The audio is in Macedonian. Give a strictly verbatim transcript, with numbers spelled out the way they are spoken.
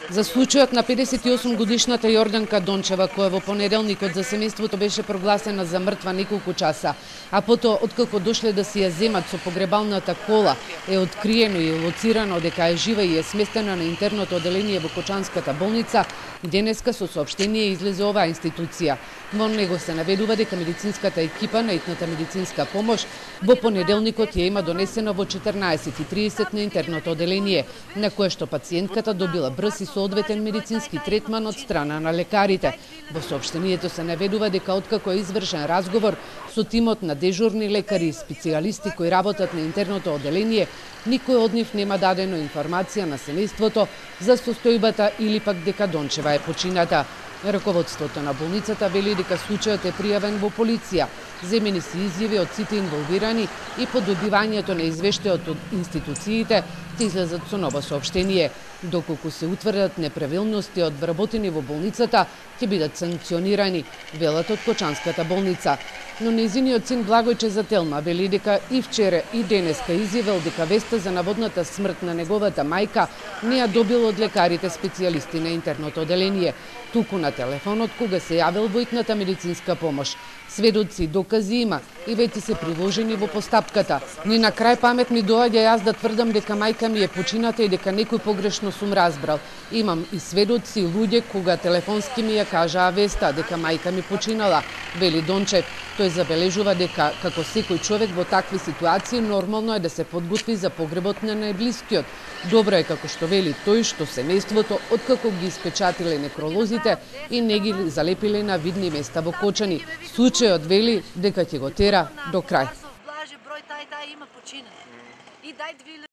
За случајот на педесет и осум годишната Јорданка Дончева, која во понеделникот за семејството беше прогласена за мртва неколку часа, а потоа откако дошле да си ја земат со погребалната кола, е откриено и лоцирано дека е жива и е сместена на интерното оделение во Кочанската болница, денеска со соопштение излезе оваа институција. Во него се наведува дека медицинската екипа на итната медицинска помош во понеделникот ја има донесена во четрнаесет и тридесет на интерното оделение, на кое што пациентката добила брз и соодветен медицински третман од страна на лекарите. Во соопштението се наведува дека откако е извршен разговор со тимот на дежурни лекари и специјалисти кои работат на интерното оделение, никој од нив нема дадено информација на семејството за состојбата или пак дека Дончева е почината. Раководството на болницата вели дека случајот е пријавен во полиција. Земени се изјави од сите инволвирани и по добивањето на извештајот од институциите ќе излезат со ново соопштение. Доколку се утврдат неправилности од вработени во болницата, ќе бидат санкционирани, велат од Кочанската болница. Но нејзиниот син Благојче Зателма вели дека и вчера и денеска изјавил дека веста за наводната смрт на неговата мајка не ја добил од лекарите специјалисти на интерното оделение, туку на телефонот кога се јавил во итната медицинска помош. Сведоци и докази има и веќе се приложени во постапката. Ни на крај памет ми доаѓа јас да тврдам дека мајка ми е почината и дека некој погрешно сум разбрал. Имам и сведоци и луѓе кога телефонски ми ја кажаа веста дека мајка ми починала, вели Дончев. Тој забележува дека, како секој човек во такви ситуации, нормално е да се подготви за погребот на најблискиот. Добро е, како што вели тој, што семејството, откако ги испечатиле некролозите и не ги залепиле на видни места во Кочани. Случајот вели дека ќе го тера до крај.